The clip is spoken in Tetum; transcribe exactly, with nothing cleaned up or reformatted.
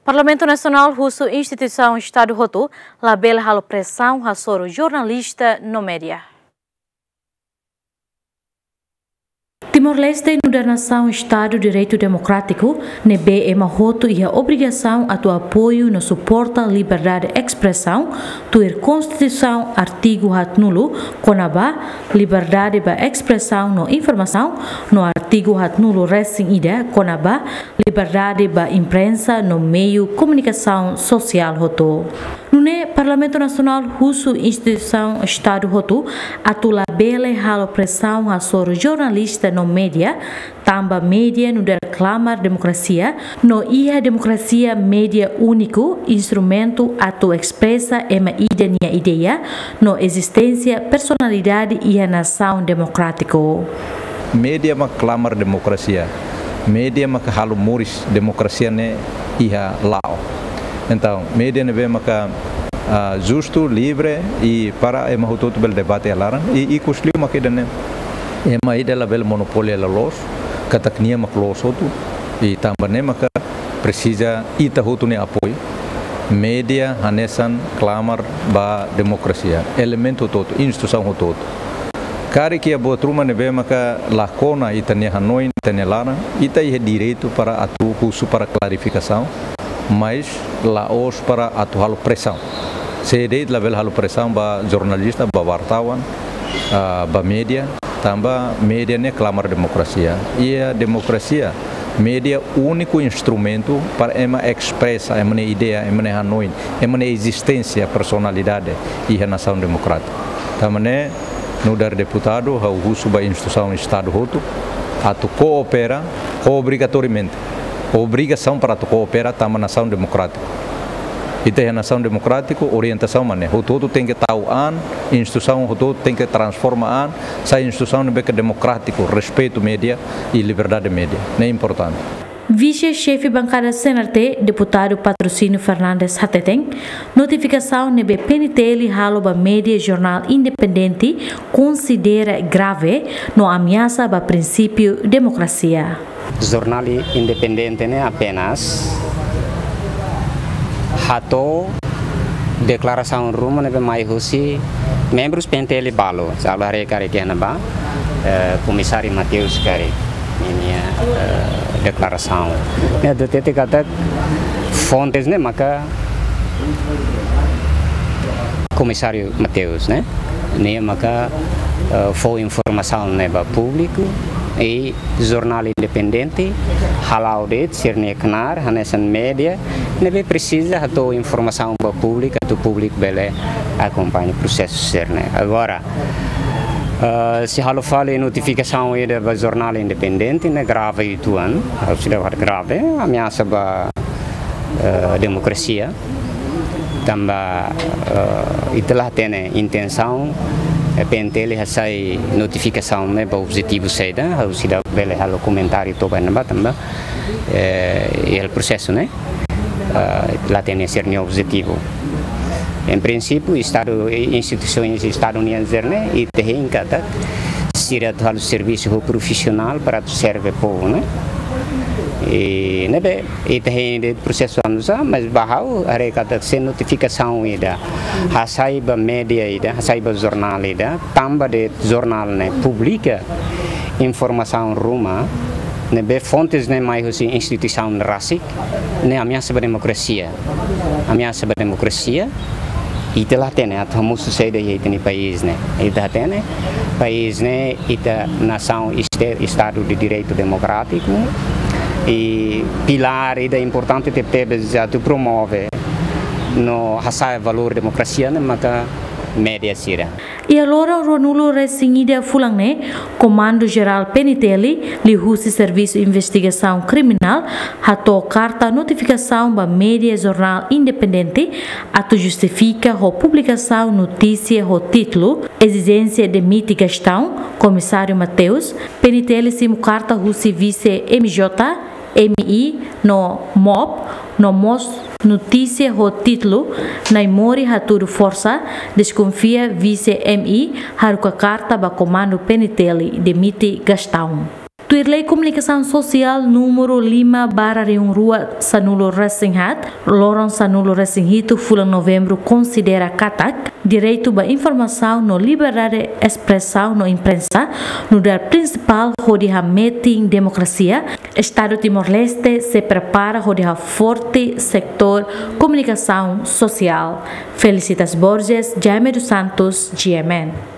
Parlamentu Nasionál husu instituisaun Estadu hotu labele halo presaun hasoru jornalista no média. Timor-Leste nu'udar nasaun Estadu Direitu Demokrátiku, ne'ebé ema hotu iha obrigasaun atu apoiu no suporta liberdade espresaun, tuir Konstituisaun artigu haatnulu kona-ba liberdade ba espresaun no informasaun, no artigu haatnulu resin ida kona-ba liberdade ba imprensa no meiu komunikasaun sosiál hotu. Nune'e Parlamentu Nasionál husu instituisaun Estadu hotu atu labele halo presaun hasoru jornalista no média, tanba média nu'udar klamar demokrasia, no iha demokrasia média úniku instrumentu atu espresa ema ida nia ideia no ezisténsia personalidade iha nasaun demokrátiku. Média mak klamar demokrasia. Média mak halo moris demokrasia ne'e iha la'o. Entaun, média ne'ebé maka, ah, justu, livre i para ema hotu-hotu bele debate iha laran. I, i ikus liu mak ida-ne'e. Ema ida labele monopoli hela loos, katak nia mak loos hotu. I tanba ne'e maka presiza ita hotu nia apoiu. Média hanesan klamar ba demokrasia, elementu hotu-hotu, instituisaun hotu-hotu. Karik iha buat ruma ne'ebé maka la kona ita-nia hanoin, ita-nia laran, ita iha direitu para atu husu para klarifikasaun, mas la'ós para atu halo presaun. Sé de'it labele halo presaun ba jornalista, ba wartawan, ah, ba média, tanba média ne'e klamar demokrasia. Iha demokrasia, média úniku instrumentu para ema espresa ema nia ideia, ema nia hanoin, ema nia ezisténsia personalidade iha nasaun demokrátiku. Tanba ne'e, nu'udar deputadu, ha'u husu ba instituisaun Estadu hotu atu koopera, obrigatoriamente. Obrigasaun para atu koopera tanba nasaun demokrátiku. Ita iha nasaun demokrátiku, orientasaun mak ne'e. Hotu-hotu tenke tau an, instituisaun hotu-hotu tenke transforma an, sai instituisaun ne'ebé ke demokrátiku, respeitu média i liberdade média. Ne'e importante. Vise-Xefe Bankada C N R T, Deputadu Patrocínio Fernandes hateten, notifikasaun ne'ebé P N T L halo ba média jornál independente konsidera grave no ameasa ba prinsípiu demokrasia. Jornál independente ne'e apenas hato'o deklarasaun ruma ne'ebé mai husi membrus P N T L balu. Sala haree karik iha ne'ebá, eh, Komisáriu Mateus karik ninia, eh, deklarasaun. Ne'e hatete katak fontes ne'e maka Komisáriu Mateus, ne'e? Nia maka, eh, fó informasaun ne'e ba públiku i jornál independente hala'o de'it sira-nia knaar hanesan média ne'ebé presiza hato'o informasaun ba públiku atu públiku bele akompaña prosesu sira-ne'e. Agora, eh, se halo fali notifikasaun ida ba jornál independente ne'e grave uitoan, ha'u seidauk dehan grave, ameasa ba, eh, demokrasia. Tanba, eh, ita la hatene intensaun, eh, P N T L hasai notifikasaun ne'e ba objetivu saida, ha'u seidauk bele halo komentáriu to'o ba ne'ebá tanba, eh, iha prosesu ne'e, eh, la hatene sira-nia objetivu. Em princípio, Estadu, instituisoens Estadu nian sira-ne'e, ita hein katak sira atu halo servisu ho profisionál para atu serve povu, ne'e? I ne'ebé ita hein de'it prosesu anu sa, mas ba ha'u haree katak se notifikasaun ida hasai ba média ida, hasai ba jornál ida, tanba de'it jornál ne'e publika informasaun ruma ne'ebé fontes ne'e mai husi instituisaun rasik, ne'e ameasa ba demokrasia. Ameasa ba demokrasia, ita la hatene atu hamosu saida iha ita-nia país ne'e. Ita hatene, país ne'e ita nasaun este-, Estadu de Direitu Demokrátiku, i pilár ida importante tebetebes atu promove no hasa'e valór demokrasia ne'e maka média sira. Iha loron ruanulu resin ida fulan ne'e, Komandu Jerál P N T L liuhusi Servisu Investigasaun Kriminál hato'o karta notifikasaun ba média jornál independente atu justifika ho publikasaun notísia ho títulu Ezijénsia Demite Gastão, Komisáriu Mateus. P N T L simu karta husi Vise M J, M I no MOP, no mós notísia ho títulu Naimori Hatudu Forsa Deskonfia Vise M I haruka karta ba Komandu P N T L Demite Gastão. Tuir Lei Komunikasaun Sosiál númeru lima barra rihun rua sanulu resin haat, loron sanulu resin hitu fulan Novembru konsidera katak direitu ba informasaun no liberdade espresaun no imprensa nu'udar prinsipál hodi hametin demokrasia. Estadu Timor-Leste sei prepara hodi haforte setór komunikasaun sosiál. Felicitas Borges, Jaime dos Santos, G M N.